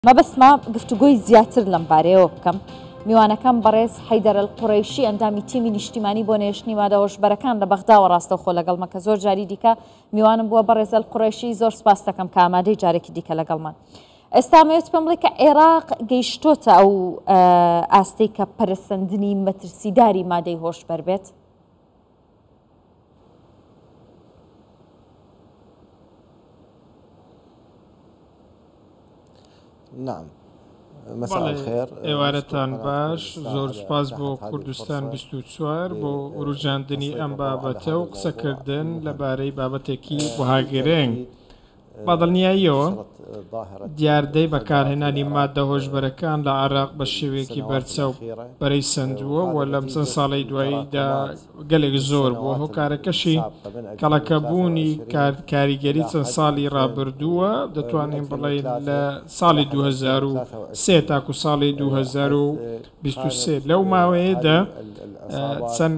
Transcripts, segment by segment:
مەبەستمە گفتوگۆی زیاتر لەم بارەیەوە بکەم. میوانەکەم بەڕێز حەیدەر ئەلقوڕەیشی ئەندامی تیمی نیشتیمانی بۆ نەهێشتنی مادە هۆشبەرەکان لە بەغداوە ڕاستەوخۆ لەگەڵمە کە زۆر جاری دیکە میوانم بووە. بەڕێز ئەلقوڕەیشی زۆر سپاست دەکەم کە ئامادەی جارێکی دیکە لەگەڵمان. ئێستا ئەمەوێت پێم بڵێ کە عێراق گەیشتۆتە ئەو ئاستەی کە پەرەسەندنی مەترسیداری مادەی هۆشبەر بێت؟ بەڵێ ئێوارەتان باش، زۆر سوپاس بۆ کوردستان 24 بۆ وروژاندنی ئەم بابەتە و قسەکردن لەبارەی بابەتێکی وەها گرنگ. بە دڵنیاییەوە دیاردەی بەکارهێنانی ماددە هۆشبەرەکان لە عێراق بە شێوەیەکی بەرچاو پەرەی سەندووە و لەم چەند ساڵەی دواییدا گەلێک زۆر بووە، هۆکارەکەشی کەڵەکەبوونی کاریگەری چەند ساڵی ڕابردووە، دەتوانین بڵێین لە ساڵی 2003 تاکو ساڵی 2023 لەو ماوەیەدا چەند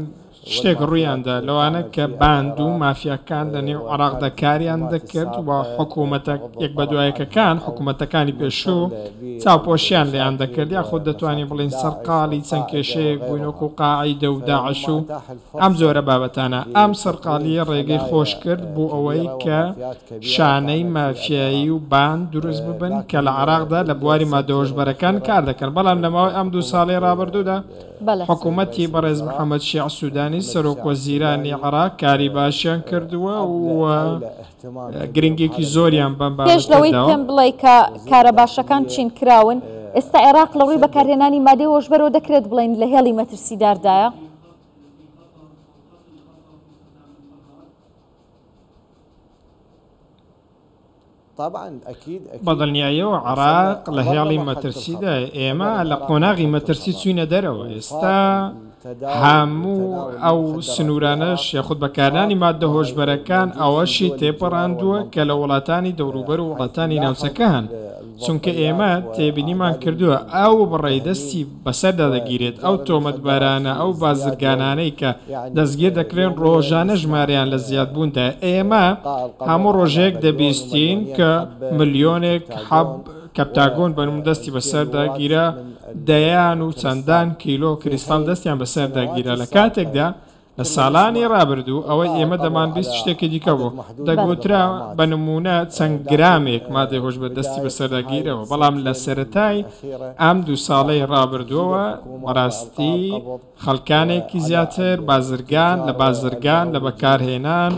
شتێک ڕوویاندا، لەوانە کە باند و مافیاکان لە نێو عێراقدا کاریان دەکرد و حکوومەتە یەک بەدوایەکەکان، حکوومەتەکانی پێشوو، چاوپۆشیان لێیان دەکرد، یاخود دەتوانین بڵێین سەرقاڵی چەند کێشەیەک بووین وەکو قاعیدە و داعش و ئەم جۆرە بابەتانە. ئەم سەرقاڵییە ڕێگەی خۆش کرد بۆ ئەوەی کە شانەی مافیایی و باند دروست ببن کە لە عێراقدا لە بواری ماددە هۆشبەرەکان کار دەکەن، بەڵام لە ماوەی ئەم دوو ساڵەی ڕابردوودا حکومەتی بەڕێز محەمەد شیاع سودانی سەرۆک وەزیرانی عێراق کاری باشیان کردووە و گرنگیەکی زۆریان بەم پێش بابەتە لەوەی داوە. پێم بڵێی کە کارە باشەکان چین کراون، ئێستا عێراق لە ڕووی بەکارهێنانی مادەی هۆشبەرەوە دەکرێت بڵێین لە هێڵی مەترسیداردایە؟ بەدڵنیاییەوە عێراق لە هێڵی مەترسیدایە، ئێمە لە قۆناغی مەترسی چووینە دەرەوە، ئێستا هەموو ئەو سنوورانەش یاخود بەکارهێنانی ماددە هۆشبەرەکان ئەوەشی تێپەڕاندووە کە لە وڵاتانی دەوروبەر و وڵاتانی ناوچەکە هەن، چونکە ئێمە تێبینیمان کردووە ئەو بڕەی دەستی بەسەردا دەگیرێت، ئەو تۆمەتبارانە، ئەو بازرگانانەی کە دەستگیر دەکرێن ڕۆژانە ژمارەیان لە زیادبووندایە، ئێمە هەموو ڕۆژێک دەبیستین کە ملیۆنێک حەب کەپتاگۆن بەنموونە دەستی بەسەردا گیرا، دەیان و چەندان کیلۆ کریستاڵ دەستیان بەسەردا گیرا، لە کاتێکدا لە ساڵانی ڕابردوو ئەوەی ئێمە دەمانبیست شتێکی دیکە بوو، دەگوترا بە نموونە چەند گرامێک مادەی هۆشبەر دەستی بەسەردا گیراوە، بەڵام لە سەرەتای ئەم دوو ساڵەی ڕابردووەوە بەڕاستی خەڵکانێکی زیاتر بازرگان لە بازرگان لە بەکارهێنان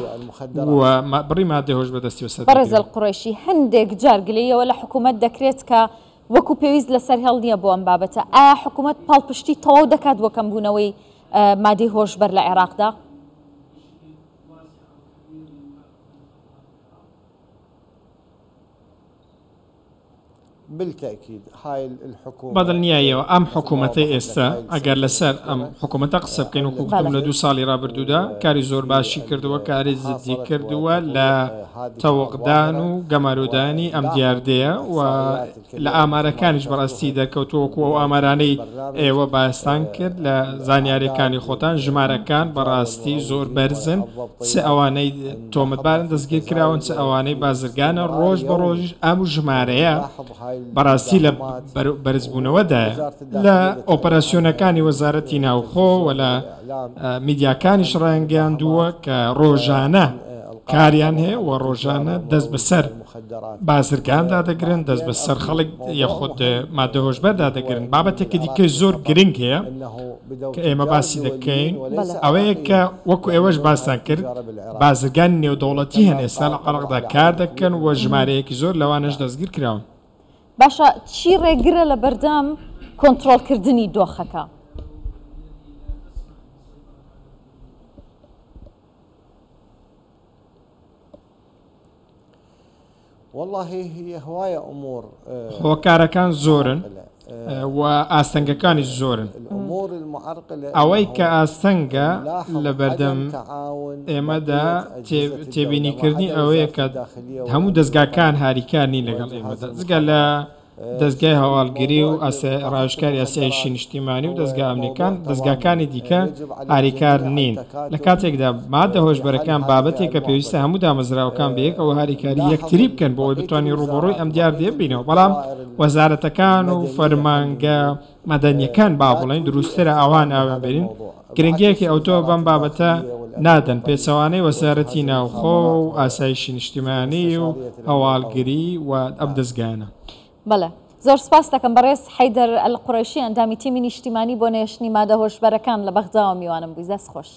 و بڕی مادەی هۆشبەر دەستی بەسەردا بەڕێز گیراوە. ئەلقوڕەیشی، هەندێک جار گلەییەوە لە حکوومەت دەکرێت کە وەکو پێویست لەسەر هێڵ نییە بۆ ئەم بابەتە، ئایا حکوومەت پاڵپشتی تەواو دەکات بۆ کەمبوونەوەی مادەی هۆشبەر لە عێراقدا؟ بەدڵنیاییەوە ئەم حکوومەتەی ئێستا ئەگەر لەسەر ئەم حکوومەتە قسە بکەین وەکو گوتم لە دوو ساڵی ڕابردوودا کاری زۆر باشی کردووە کاری جدی کردووە لە تەوقدان و گەمارۆدانی ئەم دیاردەیە و لە ئامارەکانیش بەڕاستی دەرکەوتووە وەکو ئەو ئامارانەی ئێوە باستان کرد لە زانیاریەکانی خۆتان ژمارەکان بەڕاستی زۆر بەرزن چ ئەوانەی تۆمەتبارن دەستگیر کراون چ ئەوانەی بازرگانە ڕۆژ بە ڕۆژیش ئەم ژمارەیە بەڕاستی لە بەرزبوونەوەدایە لە ئۆپەراسیۆنەکانی وەزارەتی ناوخۆ و لە میدیاکانیش ڕایانگەیاندووە کە ڕۆژانە کاریان هەیە و ڕۆژانە دەست بەسەر بازرگاندا دەگرن، دەست بەسەر خەڵک یاخود مادە هۆشبەردا دەگرن. بابەتێکی دیکەی زۆر گرنگ هەیە کە ئێمە باسی دەکەین ئەوەیە کە وەکو ئێوەش باستان کرد بازرگانی نێودەوڵەتی هەن ئێستا لە عێراقدا کار دەکەن و ژمارەیەکی زۆر لەوانەش دەستگیر کراون. باشە چی ڕێگرە لە بەردەم کۆنترۆڵکردنی دۆخەکە؟ هۆکارەکان زۆرن و ئاستەنگەکانیش زۆرن. ئەوەی کە ئاستەنگە لەبەردەم ئێمەدا تێبینیکردنی ئەوەیە کە هەموو دەزگاکان هاریکار نین لەگەڵ ئێمەدا، جگە لە. دەزگای هەواڵگری و ڕاوێژکاری ئاسایشی نیشتیمانی و دەزگا ئەمنیەکان، دەزگاکانی دیکە هاریکار نین، لە کاتێکدا مادە هۆشبەرەکان بابەتێکە پێویستە هەموو دامەزراوەکان بەیەکەوە هاریکاری یەکتری بکەن بۆ ئەوەی بتوانین ڕووبەڕووی ئەم دیاردەیە ببینەوە، بەڵام وەزارەتەکان و فەرمانگە مەدەنیەکان با بڵێین دروستترە ئاوا ناویان بێنین، گرنگییەکی ئەوتۆ بەم بابەتە نادەن، پێچەوانەی وەزارەتی ناوخۆ و ئاسایشی نیشتیمانی و هەواڵگری و ئەم دەزگایانە. بەڵێ. زۆر سوپاست دەکەم بەڕێز حەیدەر ئەلقوڕەیشی ئەندامی تیمی نیشتیمانی بۆ نەهێشتنی مادە هۆشبەرەکان لە بەغداوە میوانم بووی. دەست خۆش.